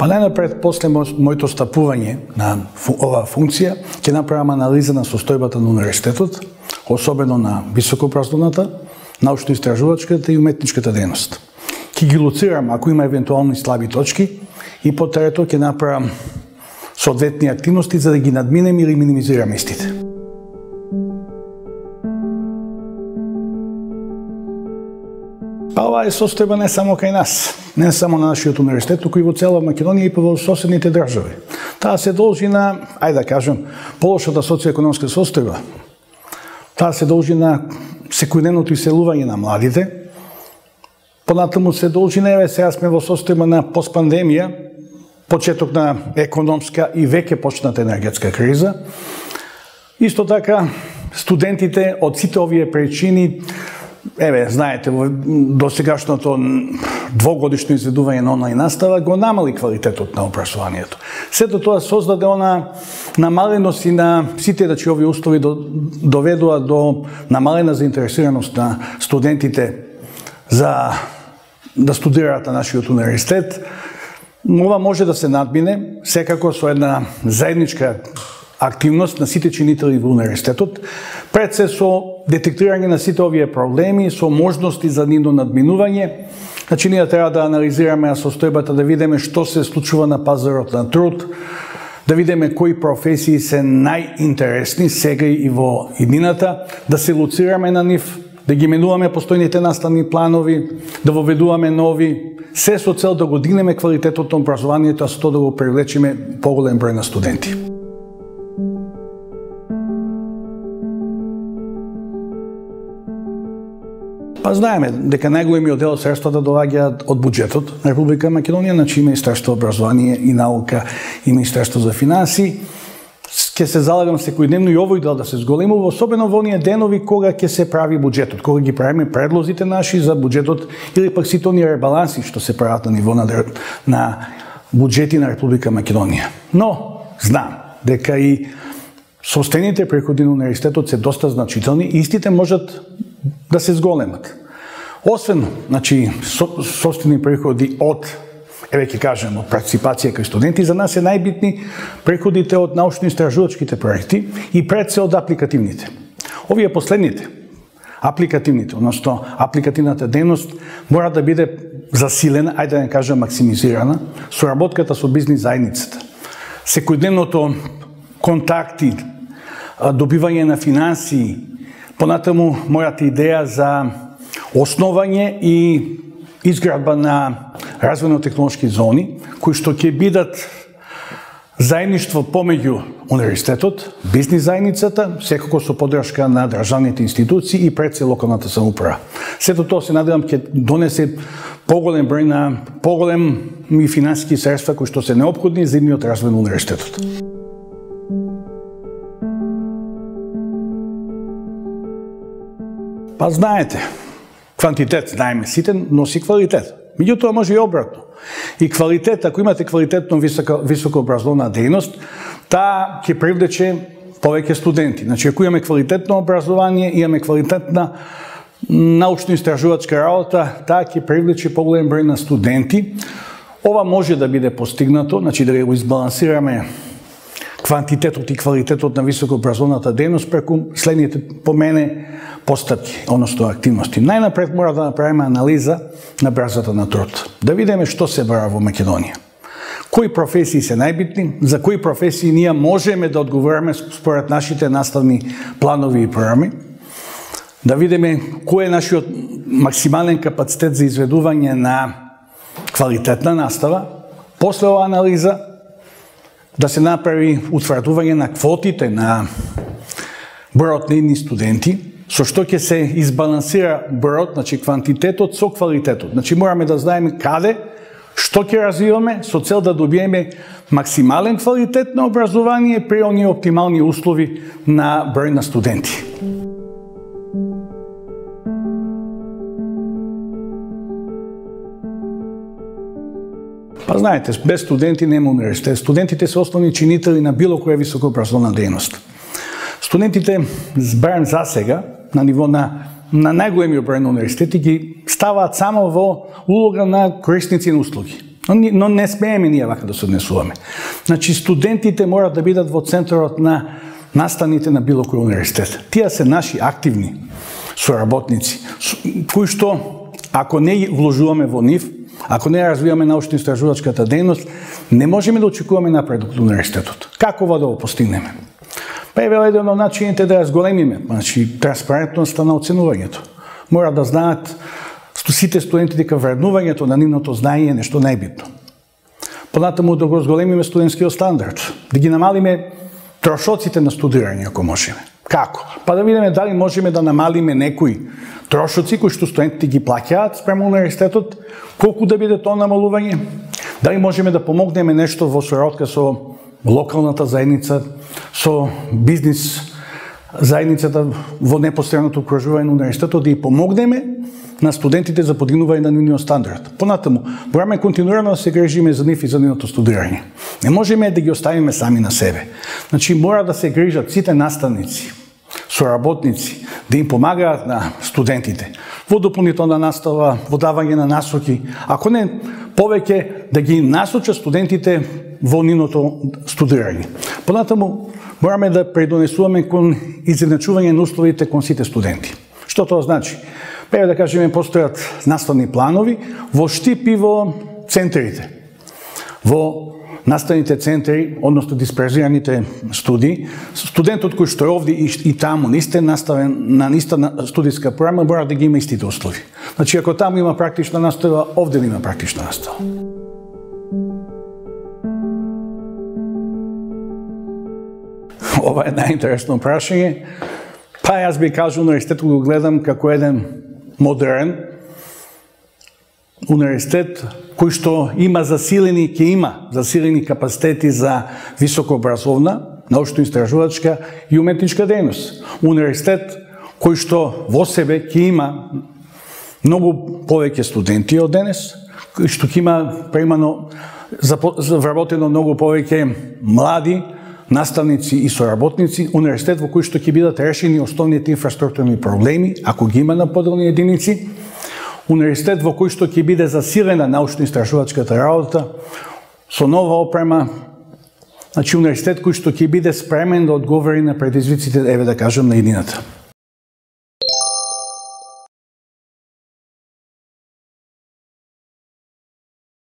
Па најнапред, после моето стапување на оваа функција, ќе направам анализа на состојбата на универзитетот, особено на високообразовната, научно-истражувачката и уметничката дејност. Ќе ги лоцирам ако има евентуални слаби точки и по трето ќе направам соодветни активности за да ги надминем или минимизираме истите. Па ова е состојба не само кај нас, не само на нашиот универзитет, туку и во цела Македонија и во соседните држави. Таа се должи на, ајде да кажем, полошата социјоекономска состојба. Таа се должи на секојдневното иселување на младите. Понатаму се должи на, сега сме во состојба на постпандемија, почеток на економска и веќе почната енергетска криза. Исто така, студентите од сите овие причини, знаете, до сегашното двогодишно изведување на онлайн настава го намали квалитетот на образованието. Сето тоа создаде она намаленост и на сите овие услови доведува до намалена заинтересираност на студентите за да студираат на нашиот универзитет. Ова може да се надмине секако со една заедничка активност на сите чинители во универзитетот, пред се со детектирање на сите овие проблеми, со можности за нивно надминување. Значи, ние треба да анализираме состојбата, да видиме што се случува на пазарот на труд, да видиме кои професии се најинтересни сега и во иднината, да се лоцираме на нив, да ги менуваме постојните наставни планови, да воведуваме нови, се со цел да го дигнеме квалитетот на образованието, а со тоа да го привлечеме поголем број на студенти. Па знаеме дека најголемиот дел од средствата доаѓаат од буџетот на Република Македонија, значи Министерство образование и наука и Министерство за финансии. Ќе се залагам секојдневно и овој дел да се зголемува, особено во оние денови кога ќе се прави буџетот, кога ги правиме предлозите наши за буџетот или пак сите оние ребаланси што се прават на ниво на буџети на Република Македонија. Но знам дека и состените приходи на универзитетот се доста значителни и истите можат да се зголемат. Освен, значи, собствени приходи од, ќе кажем, од партиципација кај студенти, за нас е најбитни приходите од научно-истражувачките проекти и пред се од апликативните. Овие последните, апликативните, односно апликативната дејност, мора да биде засилена, ајде да не кажем максимизирана, со работката со бизнис заедницата. Секојдневното контакти, добивање на финансии, понатаму мојата идеја за основање и изградба на развојно-технолошки зони, кои што ќе бидат заедништво помеѓу универзитетот, бизнис заедницата, секако со поддршка на државните институции и пред се локалната самоуправа. Сето тоа се надевам ќе донесе поголем број на поголеми финансиски средства кои што се неопходни за идниот развој на универзитетот. Па знаете, квантитет, знаеме сите, носи квалитет. Меѓутоа може и обратно. И квалитет, ако имате квалитетно високообразовна дејност, таа ќе привлече повеќе студенти. Значи, ако имаме квалитетно образование, имаме квалитетна научно-истражувачка работа, таа ќе привлече поголем број на студенти. Ова може да биде постигнато, значи да го избалансираме квантитетот и квалитетот на високообразовната дејност преку следните по мене постапки, односно активности. Најнапред мора да направиме анализа на брзата на труд. Да видиме што се бара во Македонија. Кои професии се најбитни, за кои професии ние можеме да одговориме според нашите наставни планови и програми. Да видиме кој е нашиот максимален капацитет за изведување на квалитетна настава. После оваа анализа да се направи утврдување на квотите на бројот на идни студенти, со што ќе се избалансира бројот, значи квантитетот со квалитетот. Значи мораме да знаеме каде, што ќе развиваме со цел да добиеме максимален квалитет на образование при оние оптимални услови на број на студенти. Па знаете, без студенти нема универзитет. Студентите се основни чинители на било која високообразовна дејност. Студентите, барем за сега, на ниво на најголемиот број на универзитети, ги ставаат само во улога на корисници на услуги. Но не смееме ние вака да се однесуваме. Значи, студентите мора да бидат во центарот на наставните на било кој универзитет. Тие се наши активни соработници, кои што, ако не вложуваме во нив, ако не развиваме научно-истражувачката дејност, не можеме да очекуваме напредок од универзитетот. Како да го постигнеме? Па е еден од начините да ја зголемиме, значи транспарентноста на оценувањето. Мора да знаат сите студенти дека вреднувањето на нивното знаење е нешто најбитно. Понатаму да го зголемиме студентскиот стандард, да ги намалиме трошоците на студирање ако можеме. Како? Па да видиме дали можеме да намалиме некои трошоци кои што студентите ги плаќаат спрема универзитетот, колку да биде тоа намалување, дали можеме да помогнеме нешто во соработка со локалната заедница, со бизнис заедницата во непосредното окружување на универзитетот, да ја помогнеме на студентите за подигнување на нивниот стандард. Понатаму, мораме континуирано да се грижиме за нив и за нивното студирање. Не можеме да ги оставиме сами на себе. Значи, мора да се грижат сите наставници, соработници, да им помагаат на студентите во дополнителна настава, во давање на насоки, ако не повеќе да ги насочат студентите во нивното студирање. Понатаму, мораме да предонесуваме кон изедначување на условите кон сите студенти. Што тоа значи? Пеја да кажеме, постојат наставни планови во штип и во центрите. Во наставните центри, односно дисперзираните студии, студентот кој што е овде и таму на иста студиска програма, мора да ги има истите услови. Значи, ако таму има практична настава, овде има практична настава. Ова е најинтересно прашање. Па јас би кажал, универзитетот го гледам како еден модерен универзитет кој што има засилени капацитети за високообразовна, научно-истражувачка и уметничка дејност. Универзитет кој што во себе ќе има многу повеќе студенти од денес, кој што ќе има примано вработено многу повеќе млади наставници и соработници, универзитет во кој што ќе бидат решени основните инфраструктурни проблеми, ако ги има на поделни единици, универзитет во кој што ќе биде засилена научно-истражувачката работа, со нова опрема, значи универзитет кој што ќе биде спремен да одговори на предизвиците, еве да кажем, на едината.